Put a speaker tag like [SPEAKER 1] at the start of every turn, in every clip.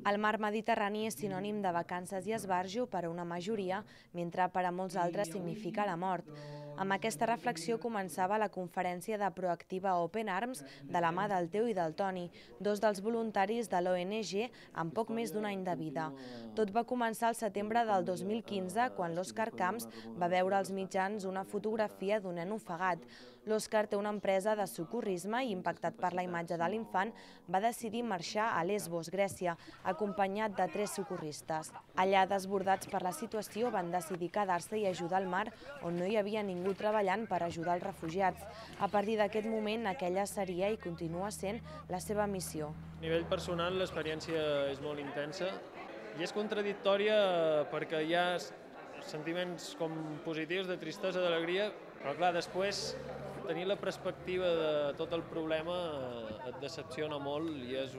[SPEAKER 1] El mar Mediterrani és sinònim de vacances i esbarjo per a una majoria, mentre per a molts altres significa la mort. Amb aquesta reflexió començava la conferència de Proactiva Open Arms de la mà del Teo i del Toni, dos dels voluntaris de l'ONG amb poc més d'un any de vida. Tot va començar al setembre del 2015, quan l'Òscar Camps va veure als mitjans una fotografia d'un nen ofegat. L'Òscar té una empresa de socorrisme i, impactat per la imatge de l'infant, va decidir marxar a Lesbos, Grècia, acompanyat de 3 socorristes. Allà, desbordats per la situació, van decidir quedar-se i ajudar al mar, on no hi havia ningú treballant per ajudar els refugiats. A partir d'aquest moment, aquella seria i continua sent la seva missió.
[SPEAKER 2] A nivell personal, l'experiència és molt intensa i és contradictòria perquè hi ha sentiments com positius, de tristesa, d'alegria, però clar, després tenir la perspectiva de tot el problema et decepciona molt i és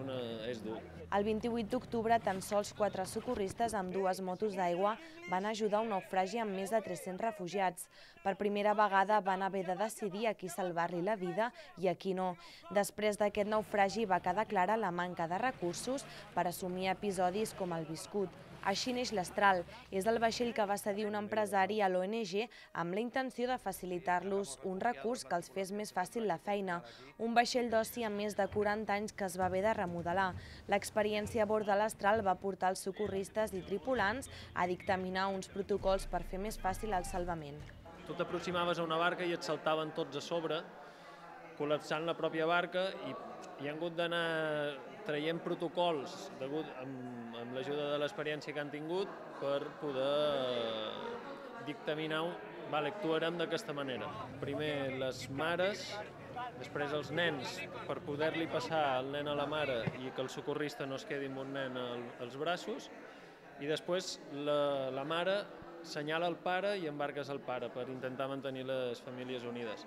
[SPEAKER 2] dur.
[SPEAKER 1] El 28 d'octubre, tan sols 4 socorristes amb 2 motos d'aigua van ajudar un naufragi amb més de 300 refugiats. Per primera vegada van haver de decidir a qui salvar-li la vida i a qui no. Després d'aquest naufragi va quedar clara la manca de recursos per assumir episodis com el viscut. Així neix l'Astral. És el vaixell que va cedir un empresari a l'ONG amb la intenció de facilitar-los un recurs que els fes més fàcil la feina. Un vaixell d'oci amb més de 40 anys que es va haver de remodelar. L'experiència a bord de l'Astral va portar els socorristes i tripulants a dictaminar uns protocols per fer més fàcil el salvament.
[SPEAKER 2] Tu t'aproximaves a una barca i et saltaven tots a sobre, col·lapsant la pròpia barca, i han hagut d'anar traient protocols amb l'ajuda de l'experiència que han tingut per poder dictaminar, actuarem d'aquesta manera. Primer les mares, després els nens, per poder-li passar el nen a la mare i que el socorrista no es quedi amb un nen als braços, i després la mare senyala el pare i embarques el pare per intentar mantenir les famílies unides.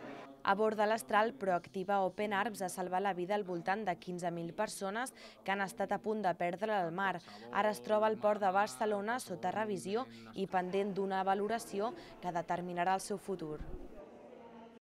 [SPEAKER 1] A bord de l'Astral, Proactiva Open Arms ha salvat la vida al voltant de 15.000 persones que han estat a punt de perdre el mar. Ara es troba al port de Barcelona sota revisió i pendent d'una valoració que determinarà el seu futur.